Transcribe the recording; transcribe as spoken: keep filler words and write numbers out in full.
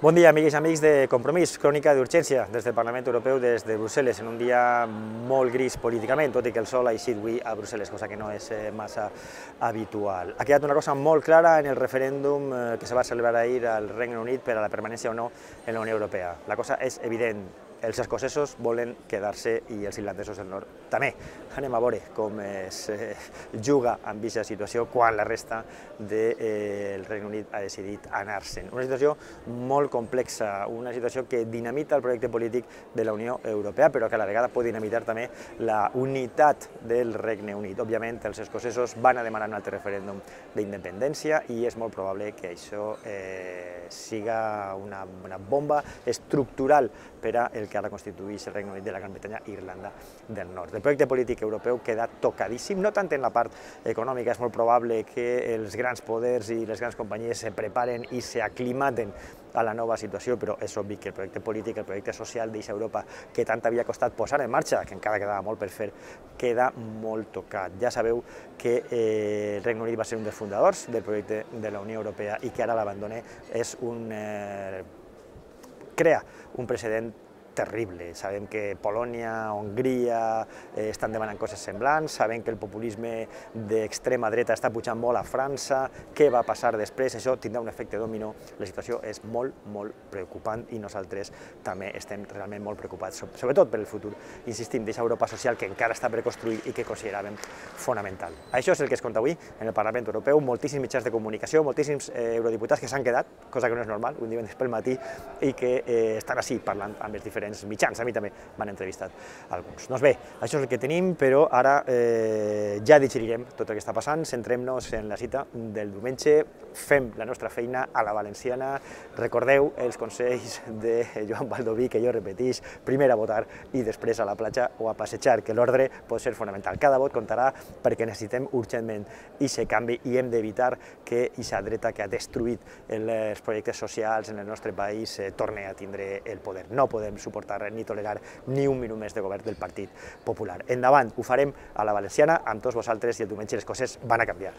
Bon dia, amigues i amics de Compromís, crònica d'urgència des del Parlament Europeu, des de Brussel·les, en un dia molt gris políticament, tot i que el sol ha eixit avui a Brussel·les, cosa que no és massa habitual. Ha quedat una cosa molt clara en el referèndum que se va celebrar ahir al Regne Unit per a la permanència o no en la Unió Europea. La cosa és evident. Els escocesos volen quedar-se i els irlandesos del nord també. Anem a veure com es juga amb aquesta situació quan la resta del Regne Unit ha decidit anar-se'n. Una situació molt complexa, una situació que dinamita el projecte polític de la Unió Europea, però que a la vegada pot dinamitar també la unitat del Regne Unit. Òbviament, els escocesos van a demanar un altre referèndum d'independència i és molt probable que això siga una bomba estructural per al que ara constitueix el Regne Unit de la Gran Bretanya i Irlanda del Nord. El projecte polític europeu queda tocadíssim, no tant en la part econòmica, és molt probable que els grans poders i les grans companyies se preparen i s'aclimaten a la nova situació, però és obvi que el projecte polític, el projecte social d'aquesta Europa que tant havia costat posar en marxa, que encara quedava molt per fer, queda molt tocat. Ja sabeu que el Regne Unit va ser un dels fundadors del projecte de la Unió Europea i que ara l'abandona és un... crea un precedent terrible. Sabem que Polònia, Hongria estan demanant coses semblants, sabem que el populisme d'extrema dreta està pujant molt a França. Què va passar després? Això tindrà un efecte dominó. La situació és molt, molt preocupant i nosaltres també estem realment molt preocupats, sobretot per el futur, insistim, d'aquesta Europa social que encara està per construir i que consideràvem fonamental. Això és el que es conta avui en el Parlament Europeu. Moltíssims mitjans de comunicació, moltíssims eurodiputats que s'han quedat, cosa que no és normal, un divendres pel matí, i que estan així parlant amb els diferents mitjans. A mi també m'han entrevistat alguns. Doncs bé, això és el que tenim, però ara ja digerirem tot el que està passant, centrem-nos en la cita del diumenge, fem la nostra feina a la valenciana, recordeu els consells de Joan Baldoví, que jo repeteix, primer a votar i després a la platja o a passejar, que l'ordre pot ser fonamental. Cada vot comptarà perquè necessitem urgentment aquest canvi i hem d'evitar que aquesta dreta que ha destruït els projectes socials en el nostre país torni a tindre el poder. No podem suportar ni tolerar ni un minut més de govern del Partit Popular. Endavant, ho farem a la valenciana, amb tots vosaltres, i el diumenge les coses van a canviar.